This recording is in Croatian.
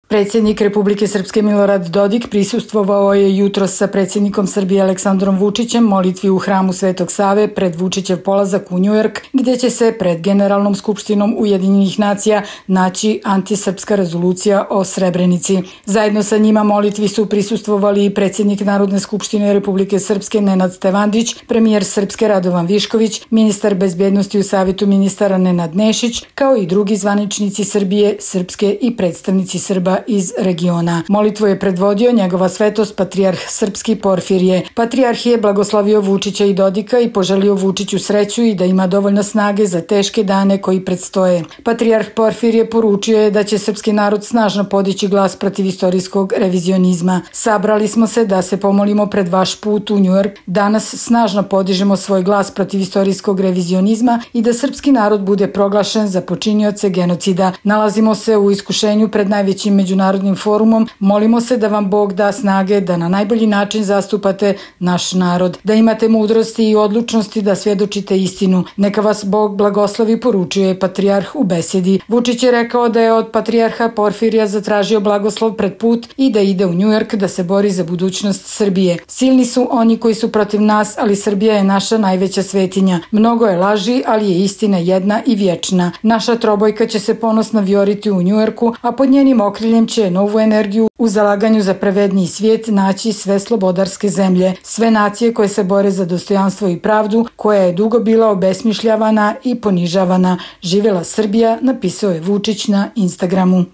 Predsjednik Republike Srpske Milorad Dodik prisustvovao je jutros sa predsjednikom Srbije Aleksandrom Vučićem molitvi u hramu Svetog Save pred Vučićev polazak u Njujork, gdje će se pred Generalnom skupštinom Ujedinjenih nacija naći antisrpska rezolucija o Srebrenici. Zajedno sa njima molitvi su prisustvovali i predsjednik Narodne skupštine Republike Srpske Nenad Stevandić, premijer Srpske Radovan Višković, ministar bezbjednosti u Savjetu ministara Nenad Nešić, kao i drugi zvaničnici Srbije, Srpske i predstavnici Srba iz regiona. Molitvu je predvodio njegova svetost patrijarh srpski Porfirije. Patrijarh je blagoslovio Vučića i Dodika i poželio Vučiću sreću i da ima dovoljno snage za teške dane koji predstoje. Patrijarh Porfirije poručio je da će srpski narod snažno podići glas protiv istorijskog revizionizma. Sabrali smo se da se pomolimo pred vaš put u Njujork. Danas snažno podižemo svoj glas protiv istorijskog revizionizma i da srpski narod bude proglašen za počinioce genocida. Nalazimo se u iskušenju pred najvećim međunarodnim forumom, molimo se da vam Bog da snage da na najbolji način zastupate naš narod, da imate mudrosti i odlučnosti da svjedočite istinu. Neka vas Bog blagoslovi, poručuje patrijarh u besedi. Vučić je rekao da je od patrijarha Porfirija zatražio blagoslov pred put i da ide u Njujork da se bori za budućnost Srbije. Silni su oni koji su protiv nas, ali Srbija je naša najveća svetinja. Mnogo je laži, ali je istina jedna i vječna. Naša trobojka će se ponosno vijoriti u Njujorku, a pod njenim okriljem će novu energiju u zalaganju za pravedniji svijet naći sve slobodarske zemlje, sve nacije koje se bore za dostojanstvo i pravdu, koja je dugo bila obesmišljavana i ponižavana. Živjela Srbija, napisao je Vučić na Instagramu.